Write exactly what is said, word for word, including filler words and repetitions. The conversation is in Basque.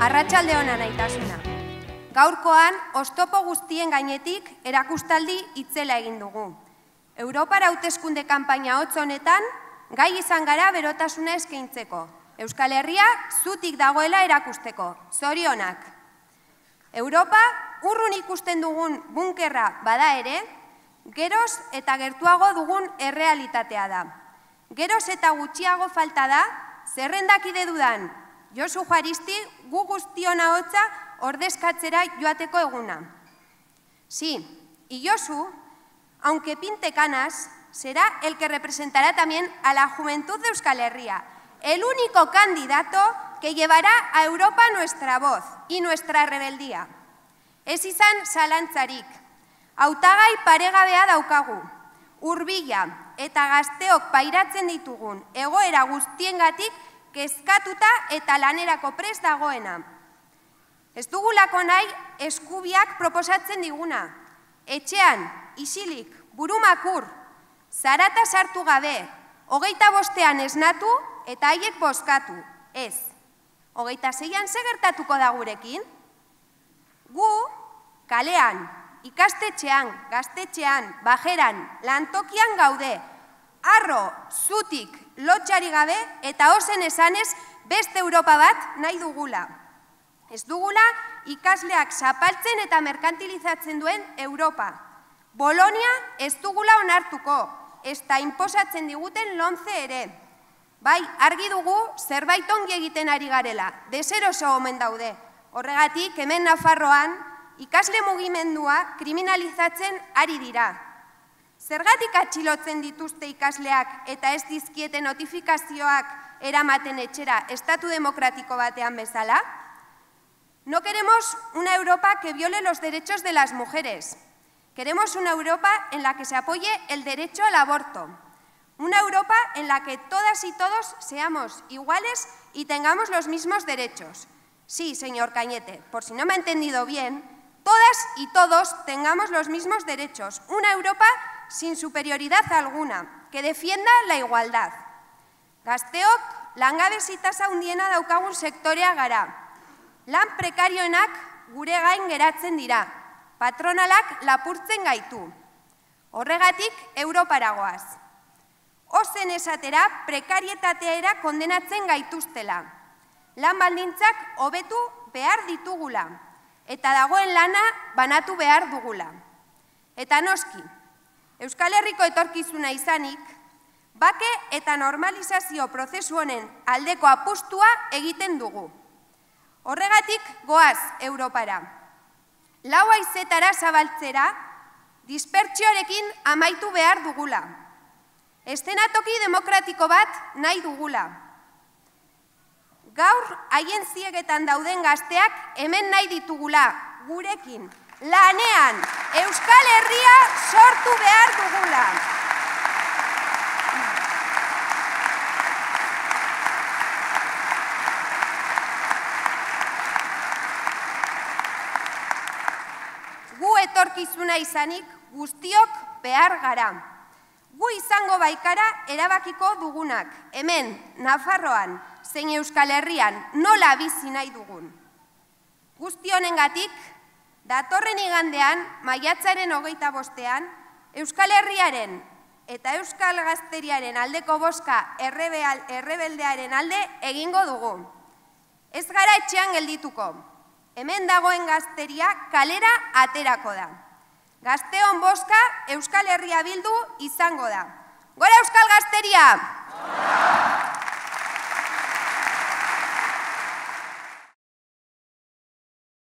Arratsalde ona naitasuna. Gaurkoan, oztopo guztien gainetik erakustaldi itzela egin dugu. Europara hauteskunde kanpaina hotz honetan, gai izan gara berotasuna eskaintzeko. Euskal Herria zutik dagoela erakusteko. Zorionak. Europa urrun ikusten dugun bunkerra bada ere, geroz eta gertuago dugun errealitatea da. Geroz eta gutxiago falta da, zerrendakide dudan, Josu Juaristi gu guztiona hotza ordezkatzera joateko eguna. Sí, y Josu, aunque pinte canas, será el que representará también a la juventud de Euskal Herria, el único candidato que llevará a Europa nuestra voz y nuestra rebeldía. Ez izan zalantzarik, hautagai paregabea daukagu, hurbila eta gazteok pairatzen ditugun egoera guztiengatik kezkatuta eta lanerako prest dagoena. Ez dugulako nahi eskubiak proposatzen diguna, etxean, isilik, burumakur, zarata sartu gabe, hogeita bostean esnatu eta haiek bozkatu, ez. Hogeita zeian ze gertatuko da gurekin? Gu, kalean, ikastetxean, gaztetxean, bajeran, lantokian gaude, arro, zutik, lotxari gabe eta ozen esanez beste Europa bat nahi dugula. Ez dugula ikasleak zapaltzen eta merkantilizatzen duen Europa. Bolonia ez dugula onartuko, ez da inposatzen diguten lomce ere. Bai, argi dugu zerbait ongi egiten ari garela, deseroso omen daude. Horregatik, hemen Nafarroan, ikasle mugimendua kriminalizatzen ari dira. Zergatik atxilotzen dituzte ikasleak eta ez dizkiete notifikazioak eramaten etxera estatu demokratiko batean bezala? No queremos una Europa que viole los derechos de las mujeres. Queremos una Europa en la que se apoye el derecho al aborto. Una Europa en la que todas y todos seamos iguales y tengamos los mismos derechos. Sí, señor Cañete, por si no me ha entendido bien, todas y todos tengamos los mismos derechos. Una Europa sin superioridad alguna, que defienda la igualdad. Gazteok langabezi tasa handiena daukagun sektorea gara. Lan prekarioenak gure gain geratzen dira, patronalak lapurtzen gaitu. Horregatik Europara goaz. Ozen esatera prekarietateera kondenatzen gaituztela. Lan baldintzak hobetu behar ditugula, eta dagoen lana banatu behar dugula. Eta noski, Euskal Herriko etorkizuna izanik, bake eta normalizazio prozesu honen aldeko apustua egiten dugu. Horregatik goaz Europara. Lau haizetara zabaltzera, dispertsioarekin amaitu behar dugula. Eszenatoki demokratiko bat nahi dugula. Gaur haien ziegetan dauden gazteak hemen nahi ditugula, gurekin, lanean, Euskal Herria sortu behar dugula. Gu etorkizuna izanik guztiok behar gara. Gu izango baikara erabakiko dugunak, hemen, Nafarroan, zein Euskal Herrian, nola bizi nahi dugun. Guzti honengatik, datorren igandean, maiatzaren hogeita bostean, Euskal Herriaren eta Euskal Gazteriaren aldeko bozka errebeldearen alde egingo dugu. Ez gara etxean geldituko, hemen dagoen gazteria kalera aterako da. Gazteon bozka Euskal Herria bildu izango da. Gora Euskal Gazteria!